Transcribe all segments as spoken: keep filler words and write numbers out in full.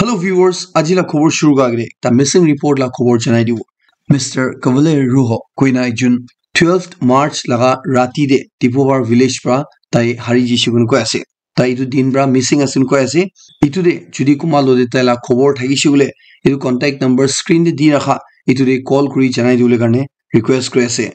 Hello viewers, aji la khobor shuru kura agere ekta missing report la khobor janai dibo. Mister Kavale Ruho koina ekjon twelfth March laga rati de Tipubar village pra tai hari jishe koina koi ase. Tai etu din pra missing ase koina koi ase. Etu de jodi kunba lo de tai la khobor thakishe koile, etu contact number screen de di rakha, etu de call kuri janai dibole karne request kuri ase.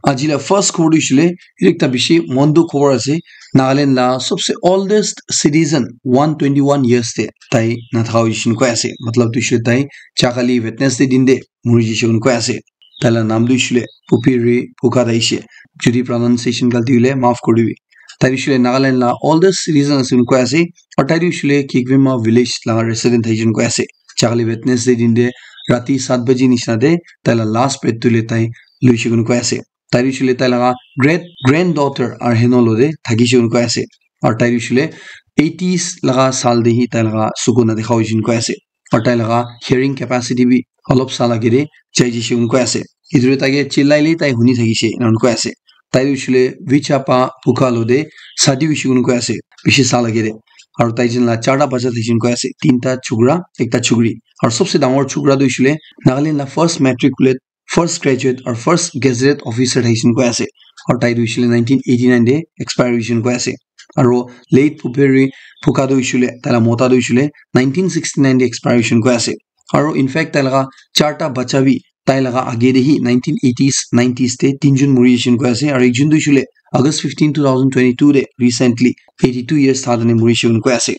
Aji la first khobor tu hoishe koile, etu ekta bishi mon dukh khobor ase. Nagaland la sabse oldest citizen one twenty one years te tai nathaka hoishe koina koi ase. Matlab tu hoishe koile tai jakali Wednesday din de muri jishe koina koi ase. Tai la naam tu hoishe koile Pupiri Phuka Daishe. Jodi pronunciation galti hoile maaf kuri dibi. Tai tu hoishe koile Nagaland la oldest citizen ase koina koi ase. Aru tai tu hoishe koile Kikwima village la resident ase koina koi ase. Jakali Wednesday din de rati sat baji nishina de tai la last breath tu hoile tai loishe koina koi ase. Tai tu hoishe koile tai laga great granddaughter aru heno lo de thakishe koina koi ase. Aru tai tu hoishe koile eighties laga saal de hi tai laga suku na dekha hoishe koina koi ase. Aru tai laga hearing capacity bi olop saal age de jai jishe koina koi ase. Etu de tai ke chillai le tai huni thakishe koina koi ase. Tai tu hoishe koile Vichapa Phuka lo de shadi hoishe koina koi ase. Bishi saal age de. Aru tai jon la charta bacha thakishe koina koi ase. Tinta chokra, ekta chokri. Aru sabse dangor chokra tu hoishe koile Nagaland la first matriculate, first graduate aru first gazetted officer thakishe koina koi ase. Aru tai tu hoishe koile nineteen eighty nine de expire hoishe koina koi ase. Aru late Pupiri Phuka tu hoishe koile, tai la mota tu hoishe koile nineteen sixty nine de expire hoishe koina koi ase. Aru in fact tai laga charta bacha bi tai laga age de hi nineteen eighties, nineties de tinjon muri jishe koina koi ase. Aru ekjon tu hoishe koile August fifteen, two thousand twenty two de recently eighty two years tha tane muri jishe koina koi ase.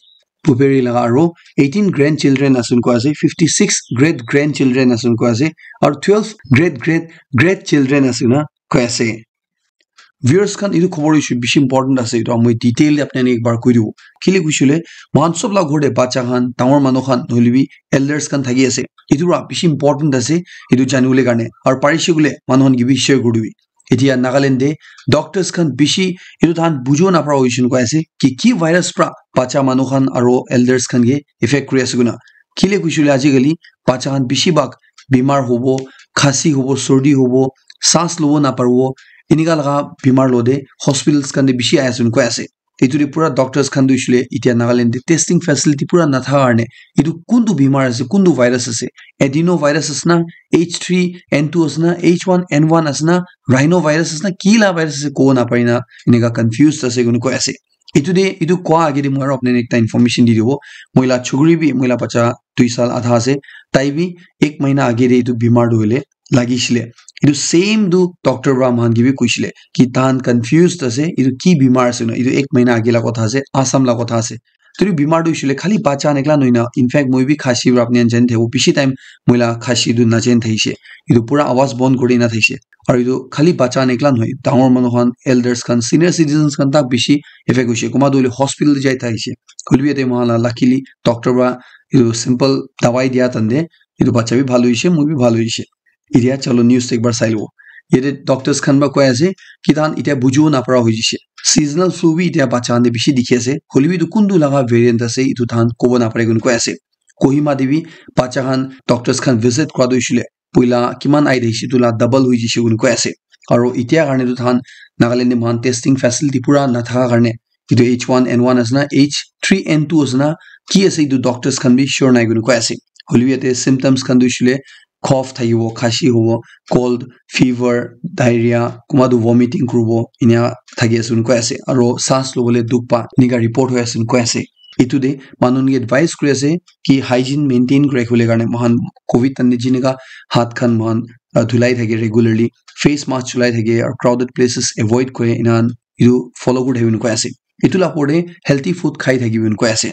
Pupiri laga aru eighteen grandchildren ase koina koi ase, fifty six great grandchildren ase koina koi ase, aru twelve great great great children ase koina koi ase. Viewers khan, etu khobor issue bishi important ase, etu moi detail de apni khan ekbar koi dibo. Kile koishe koile, moikhan sob la ghor de bacha khan, dangor manu khan, nohoile bi elders khan thaki ase. Etu para bishi important ase, etu jani bole karne. Aru parishe koile, manu khan ke bi share kuri dibi. Etia Nagaland de doctors khan bishi etu tahan bujibo napara hoishe koina koi ase ki ki virus pra bacha manu khan aro elders khan ke effect kuri ase koina. Kile koishe koile ajikali bacha khan bishi bhag bimar hobo, khasi hobo, sordi hobo, saas lobo naparibo, enika laga bimar lode hospitals khan de bishi ahi ase koina koi ase. Etu de pura doctors khan tu hoishe koile etia Nagaland de testing facility pura nathaka karne etu kuntu bimar ase, kuntu virus ase, adenovirus ase na, H three N two ase na, H one N one ase na, rhinovirus ase na, ki la virus ase kobo napari na, enika confused ase koina koi ase. Etu de, etu koa age de moi aro apni khan ekta information di dibo. Moi la chukri bi, moi la bacha dui saal adha ase, tai bi ek mahina age de etu bimar tu hoile lagishile. Etu same tu doctor para moikhan ke bi koishile ki tahan confused ase, etu ki bimar ase na, etu ek mahina age la kotha ase, Assam la kotha ase. Etu bimar tu hoishe koile khali bacha khan ekla nohoi na, in fact moi bi khasi para apni khan jani thakibo, bishi time moi la khasi tu najani thakishe, etu pura awaz bon kuri na thakishe. Aru etu khali bacha khan ekla nohoi, dangor manu khan, elders khan, senior citizens khan tak bishi effect hoishe, kunba tu hoile hospital jai thakishe. Hoile bi yate moikhan la luckily doctor para etu simple dawai dia tande etu bacha bi bhal hoishe, moi bi bhal hoishe. Etia chalo news te ekbar sai lobo. Yate doctors khan para koi ase ki tahan etia bujibo napara hoi jishe. Seasonal flu bi etia bacha khan te bishi dikhi ase. Hoile bi etu kuntu laga variant ase, etu tahan kobo napare koina koi ase. Kohima te bi bacha khan doctors khan visit kura tu hoishe koile poila kiman ahi thakishe, etu la double hoi jishe koina koi ase. Aro etia karne tu tahan Nagaland te moikhan testing facility pura nathaka karne etu H one N one ase na, H three N two ase na, ki ase etu doctors khan bi sure nai koina koi ase. Hoile bi yate symptoms khan tu hoishe koile cough thakibo, khasi hobo, cold, fever, diarrhea, kunba tu vomiting kuribo, enia thaki ase koina koi ase. Aro saas lobole dukh pa, enika report hoi ase koina koi ase. Etu de manu khan ke advice kuri ase ki hygiene maintain kuri rakhibole karne moikhan covid time te jinika hath khan moikhan, ah, dhulai thake regularly, face mask cholai thake, aru crowded places avoid kore, ena khan etu follow kuri thakibo koina koi ase. Etu la opor te healthy food khai thakibo koina koi ase.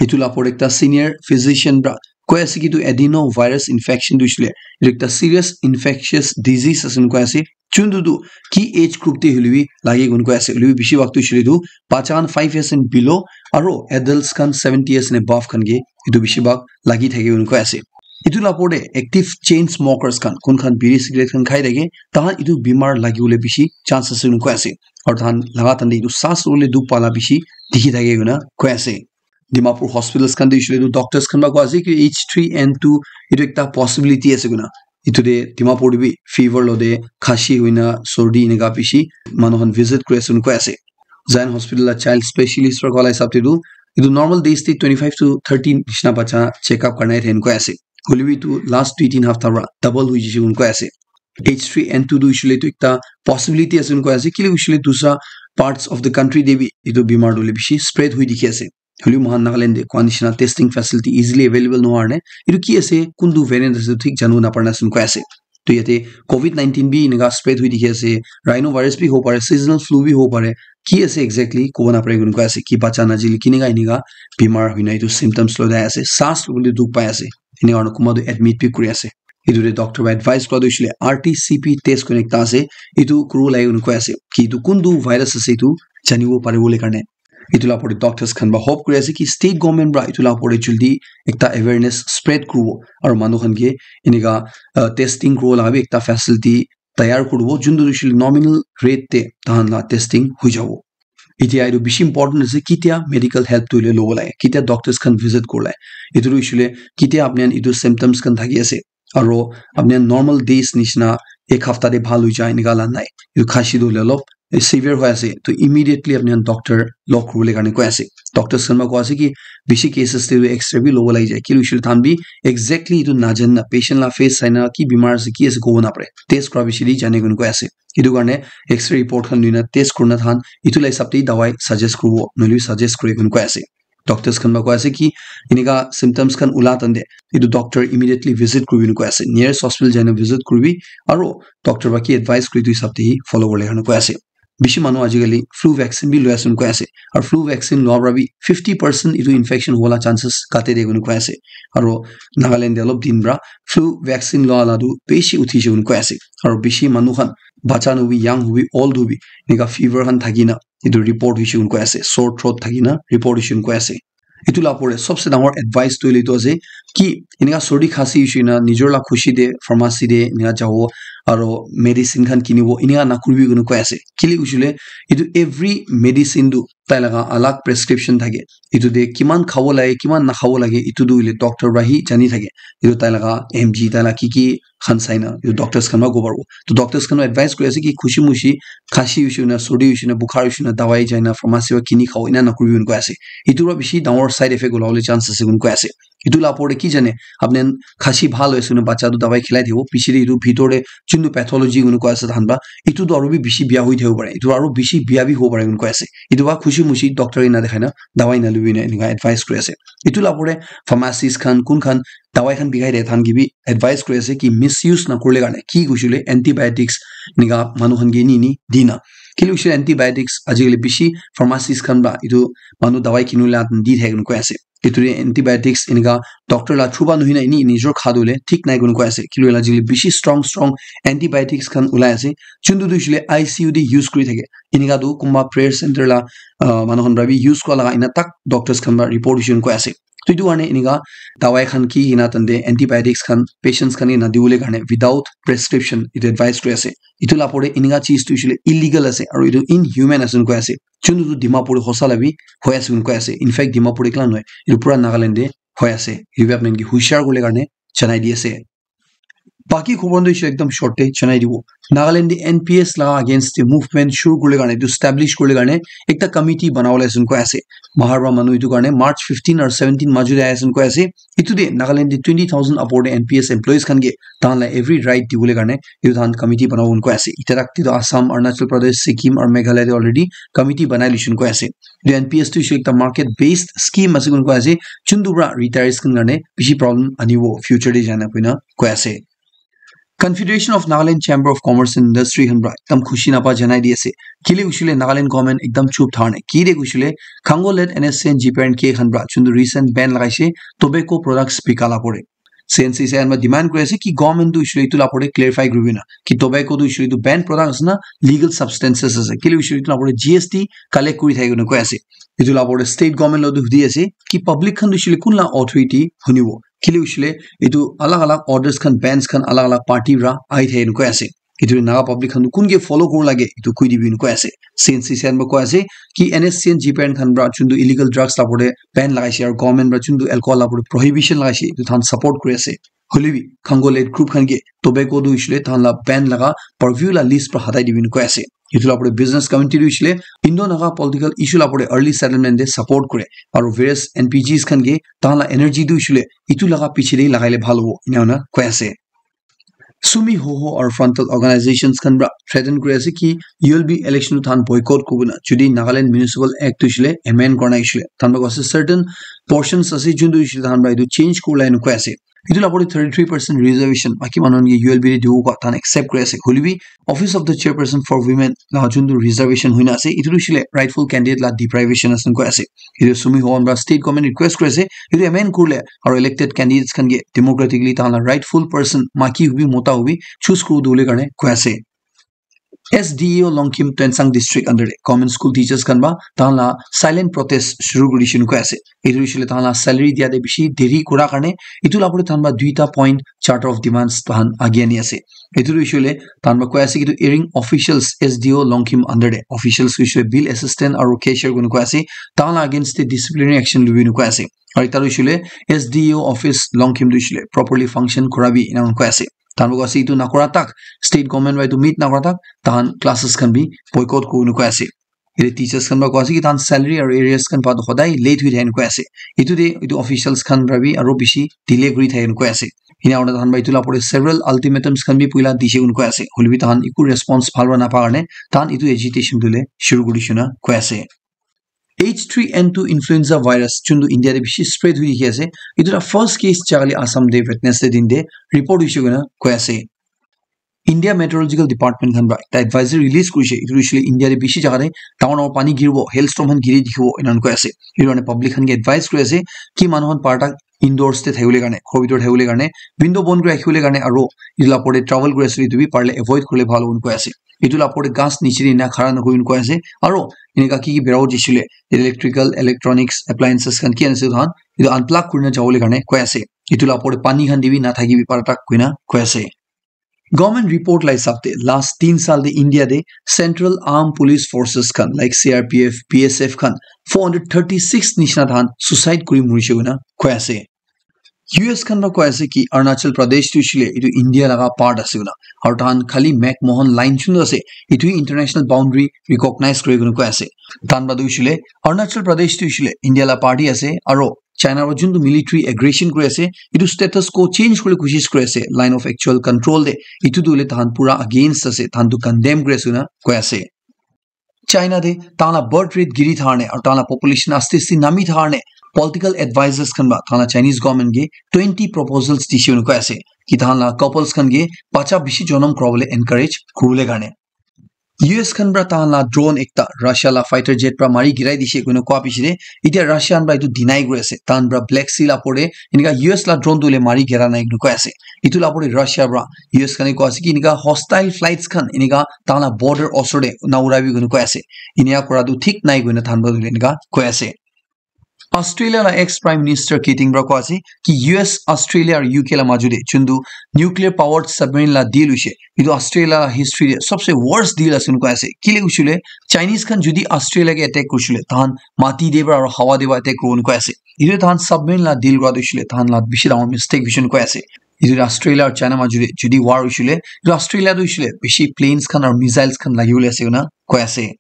Etu la opor te ekta senior physician para koi ase ki etu adenovirus infection tu hoishe koile etu ekta serious infectious disease ase koina koi ase. Chuntu tu ki age group te hoile bi lage koina koi ase. Hoile bi bishi bhag tu hoishe koile etu bacha khan five years and below aro adults khan seventy years and above khan ke etu bishi bhag lagi thake koina koi ase. Etu la opor te active chain smokers khan, kun khan biri cigarette khan khai thake, tahan etu bimar lagibole bishi chance ase koina koi ase. Aru tahan laga time te etu saas lobole dukh pa la bishi dikhi thake koina koi ase. Dimapur hospitals khan te hoishe koile etu doctors khan para koi ase ki H three N two etu ekta possibility ase koina. Etu de Dimapur te bi fever lode, khasi hoina, sordi enika bishi manu khan visit kuri ase koina koi ase. Zion Hospital la child specialist para koa la hisab te tu Etu normal days te twenty five to thirty nishina bacha check up karna ahi thake koi ase. Hoilebi etu last dui tin hafta para double hoi jai se koi ase. H three N two tu hoishe le etu ekta possibility ase koi ase, kile hoishe le dusra parts of the country te bi etu bimar tu hoile bishi spread hoi dikhi ase. Hoilebi moikhan Nagaland te koa nishina testing facility easily available nohoi karne, etu ki ase, kuntu variant ase, thik janibo napara nishina koi ase. To yate covid nineteen bi enika spread hoi dikhi ase, rhino virus bi hobo pare, seasonal flu bi hobo pare, ki ase exactly kobo napare koi ase, ki bacha najile kinika enika bimar hoina etu symptoms loi ase, saas lobole dukh pai ase, enika hoina kunba tu admit bi kuri ase. Etu te doctor para advice kura tu hoishe le R T C P test koi na ekta ase, etu kuribo lage koi ase, ki etu kuntu virus ase etu janibo paribo le karne. Etu la opor te doctors khan para hope kuri ase ki state government para etu la opor te jaldi ekta awareness spread kuribo, aru manu khan ke enika, uh, testing kuribo laga bi ekta facility tayar kuribo, juntu hoishe le nominal rate te tahan la testing hoi jabo. Etia etu bishi important ase, kitia medical help tu hoile lobo lage, kitia doctors khan visit kuribo lage. Etu tu hoishe le kitia apni khan etu symptoms khan thaki ase, aru apni khan normal days nishina ek hafta te bhal hoi jai enika la nai. Etu khasi tu hoile olop severe hoi ase, to immediately apni khan doctor log kuribo le karne koi ase. Doctors khan para koi ase ki bishi cases te tu X-ray bi lobo lagi jai, kile hoishe le tahan bi exactly etu najane na, patient la face sai na ki bimar ase, ki ase kobo napare, test kura bishi te jane koi ase. Etu karne X-ray report khan loina test kurina tahan etu la hisab te dawai suggest kuribo, nohoile bi suggest kure koi koi ase. Doctors khan para koi ase ki enika symptoms khan ula tande etu doctor immediately visit kuribi koi ase, nearest hospital jaina visit kuribi, aru doctor para ki advice kuri etu hisab te hi follow kuribole karne koi ase. Bishi manu ajikali flu vaccine bi loi ase koi ase, aru flu vaccine loa para bi fifty percent etu infection hobo la chances kate de koi ase. Aru Nagaland te olop din para flu vaccine loa la tu bishi uthi jai koi ase, aru bishi manu khan, bacha hobi, young hobi, old hobi, enika fever khan thaki na etu report hoishe koi ase, sore throat thaki na report hoishe koi ase. Etu la opor te sobse dangor advice tu hoile etu ase ki enika sordi khasi hoishe na nijor la khushi te pharmacy te enika jabo aru medicine khan kinibo, enika nakuribi koi ase. Kile hoishe le etu every medicine tu tai laga alag prescription thake. Etu te kiman khabo lage, kiman nakhabo lage, etu tu hoile doctor para hi jani thake. Etu tai laga M G, tai laga ki ki khan sai na, etu doctors khan para kobo paribo. To doctors khan para advice kuri ase ki khushi mushi khasi hoishe na, sordi hoishe na, bukhar hoishe na, dawai jai na pharmacy para kini khabo, ena nakuribi koi ase. Etu para bishi dangor side effect ulabole chance ase koi ase. Etu la opor te ki jane, apni khan khasi bhal hoise na, bacha tu dawai khilai dibo, piche te etu bhitor te juntu pathology koi ase tahan para, etu tu aru bi bishi bia hoi thakibo pare, etu aru bishi bia bi hobo pare koi ase. Etu para khushi mushi doctor ena dekhai na dawai na lobi na enika advice kuri ase. Etu la opor te pharmacist khan, kun khan dawai khan bikai de, tahan ke bi advice kuri ase ki misuse nakuribole karne, ki hoishe le antibiotics enika manu khan ke ni ni dina. Kile hoishe le antibiotics ajikali bishi pharmacist khan para etu manu dawai kinibole di thake koi ase. Etu te antibiotics enika doctor la through para nohoi na eni nijor kha tu hoile thik nai koi ase. Kile hoile ajikali bishi strong strong antibiotics khan ulai ase. Juntu tu hoishe le I C U te use kuri thake. Enika tu kunba prayer center la, ah, manu khan para bi use kura laga ena tak doctors khan para report hoishe koi ase. To etu karne enika dawai khan ki ena tante antibiotics khan patients khan ke nadibole karne without prescription etu advice kuri ase. Etu la opor te enika cheez tu hoishe le illegal ase aru etu inhuman ase koi ase. Juntu tu Dimapur te hosa la bi hoi ase koi ase. In fact, Dimapur te ekla nohoi, etu pura Nagaland te hoi ase. Etu bi apni khan ke hushar kuribole karne janai di ase. Baki khobor tu hoishe ekdam short te janai dibo. Nagaland te N P S la against te movement shuru kuribole karne, etu establish kuribole karne ekta committee banabole ase koi ase. Bahar para manu etu karne March fifteen aru seventeen majo te ahi ase koi ase. Etu te Nagaland te twenty thousand upor te N P S employees khan ke tahan la every right dibole karne etu tahan committee banabo koi ase. Etia tak te tu Assam, Arunachal Pradesh, Sikkim aru Meghalaya te already committee banai loishe koi ase. Etu N P S tu hoishe ekta market based scheme ase koi ase, juntu para retirees khan karne bishi problem anibo future te jai na koi na koi ase. Confederation of Nagaland Chamber of Commerce and Industry khan para ekdam khushi napa janai di ase. Kile hoishe le Nagaland government ekdam chup thaka nai. Kile hoishe le Khango led N S C N G P R and K khan para juntu recent ban lagaishe tobacco products bika la opor te. C N C C I khan para demand kuri ase ki government tu hoishe le etu la opor te clarify kuribi na ki tobacco tu hoishe le etu banned product ase na legal substances ase. Kile hoishe le etu la opor te G S T collect kuri thake koi ase. Etu la opor te state government lo tu hudi ase ki public khan tu hoishe le kun la authority hunibo. Kile hoishe le etu alag alag orders khan, bans khan alag alag party para ahi thake koi ase. Etu Naga public khan tu kun ke follow kuribo lage, etu koi dibi koi ase. C N C C I khan para koi ase ki N S C N G P R khan para juntu illegal drugs la opor te ban lagaishe aru government para juntu alcohol la opor te prohibition lagaishe, etu tahan support kuri ase. Hoilebi Khango-led group khan ke tobacco tu hoishile tahan la ban laga purview la list pra hatai dibi koi ase. Etu la opor te business community tu hoishile Indo-Naga political issue la opor te early settlement te support kore. Aru various N P Gs khan ke tahan la energy tu hoishile etu laga piche te lagai le bhal hobo, ena hoina koi ase. Sumi Hoho aru frontal organizations khan pra threaten kuri ase ki U L B election tu tahan boycott kuribo na, jodi Nagaland Municipal Act tu hoishile amend kurna hoishile. Tahan pra koi ase certain portions ase, jun tu hoishile tahan pra etu change kuribole ena koi ase. Etu la opor te thirty-three percent reservation, baki manu khan ke U L B te dibo koi tahan accept kuri ase. Hoilebi Office of the Chairperson for Women la jun tu reservation hoina ase, etu tu hoishile rightful candidate la deprivation ase koi ase. Etu Sumi Hoho pra state government request kuri ase, etu amend kurile aru elected candidates khan ke democratically tahan la rightful person, maki hobi, mota hobi, choose kuri dibole karne koi ase. S D A O Longkhim Tuensang District under te government school teachers khan pra tahan la silent protest shuru kuri dishe koi ase. Etu hoishile tahan la salary dia te bishi deri kura karne, etu la opor te tahan pra duita point charter of demands tahan age ani ase. Etu tu hoishile tahan pra koi ase ki etu hearing officials S D O Longkhim under te officials hoishile bill assistant aru cashier koi kena koi ase, tahan la against te disciplinary action lubi kena koi ase. Aru ekta tu hoishile S D O office Longkhim tu hoishile properly function kurabi ena koi ase. Tahan pra koi ase etu nakura tak, state government pra etu meet nakura tak tahan classes khan bi boycott kuribo koi ase. Yate teachers khan pra koi ase ki tahan salary aru arrears khan pa toh hodai late hoi thake koi ase. Etu te etu officials khan pra bi aru bishi delay kuri thake koi ase. Ena hoina tahan pra etu la opor te several ultimatums khan bi puila dishe koi ase. Hoilebi tahan eku response bhal pra napa karne tahan etu agitation tu le shuru kuri dishe koi ase. H three N two influenza virus jun tu India te bishi spread hoi dikhi ase. Etu la first case jagale Assam te Wednesday din te report hoise koi kena koi ase. India Meteorological Department khan pra ekta advisory release kurise. Etu hoishe le India te bishi jaga te dangor dangor pani giribo, hailstorm khan giri dikhibo, enakan koi ase. Etu karne public khan ke advice kuri ase ki manu khan par tak indoors te thakibole karne, ghor bitor te thakibole karne, window bon kuri rakhibole karne, aro etu la opor te travel kuri ase, etu bi parle avoid kurile bhal hobo koi ase. Etu la opor te ghas niche te ena khara nakuribo koi ase. Aro eneka ki ki berabo jaishe le electrical, electronics, appliances khan ki ase etu khan, etu unplug kurina jabole karne koi ase. Etu la opor te pani khan te bi nathakibi par tak koina koi ase. Government report la hisab te last tin saal te India te Central Armed Police Forces khan like C R P F, B S F khan four hundred thirty-six nishina tahan suicide kuri murishe koina koi ase. U S khan pra koi ase ki Arunachal Pradesh tu hoishe le etu India laga part ase koina. Aru tahan khali McMahon line chundu ase, etu international boundary recognize kuri koina koi ase. Tahan pra tu hoishe le Arunachal Pradesh tu hoishe le India la part ase, aro China para juntu military aggression kuri ase, etu status quo change kuribole koshish kuri ase, line of actual control te, etu tu hoile tahan pura against ase, tahan tu condemn kuri ase koina koi ase. China te tahan la birth rate giri thakar karne aru tahan la population aste aste nami thakar karne political advisors khan para tahan la Chinese government ke twenty proposals dishe koina koi ase ki tahan la couples khan ke bacha bishi jonom kurabole encourage kuribole karne. U S khan para tahan la drone ekta Russia la fighter jet para mari girai dishe koina koa piche te, etia Russia khan para etu deny kuri ase. Tahan para Black Sea la opor te enika U S la drone tu hoile mari gira nai koina koi ase. Etu la opor te Russia para U S khan e koi ase ki enika hostile flights khan enika tahan la border osor te na urabi koina koi ase. Enika kura tu thik nai koina tahan para enika koi ase. Australia la ex Prime Minister Keating para koi ase ki U S, Australia aru U K la maju te juntu nuclear powered submarine la deal hoise, etu Australia la history te sabse worst deal ase koina koi ase. Kile koishe le Chinese khan jodi Australia ke attack koishe le tahan mati te para aru hawa te para attack kuribo koina koi ase. Etu tahan submarine la deal kura tu hoishe le tahan la bishi dangor mistake hoishe koina koi ase. Etu Australia aru China maju te jodi war hoishe le, etu Australia tu hoishe le bishi planes khan aru missiles khan lagibole ase koina koi ase.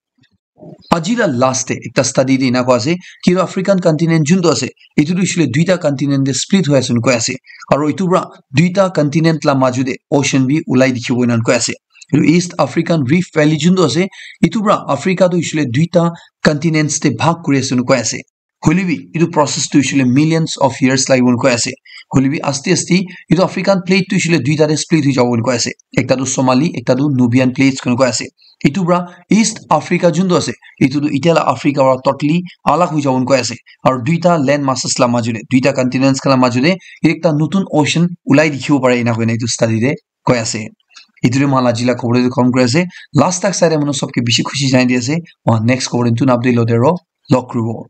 Aji la last te ekta study te ena koi ase ki etu African continent juntu ase, etu tu hoishe le duita continent te split hoi ase koina koi ase. Aru etu para duita continent la maju te ocean bi ulai dikhibo koina koi ase. Etu East African Rift Valley juntu ase, etu para Africa tu hoishe le duita continents te bhag kuri ase koina koi ase. Hoile bi etu process tu hoishe le millions of years lagibo koina koi ase. Hoile bi aste aste etu African plate tu hoishe le duita te split hoi jabo koina koi ase. Ekta tu Somali, ekta tu Nubian plates koina koi ase. Etu para East Africa juntu ase, etu tu etia la Africa para totally alag hoi jabo koina koi ase. Aru duita land masses la maju te, duita continents khan la maju te ekta notun ocean ulai dikhibo pare ena koina etu study te koi ase. Etu te moi khan la aji la khobor te khatam kuri ase. Last tak sai le manu sob ke bishi khushi janai di ase. Moi khan next khobor te notun update lote aro log kuribo.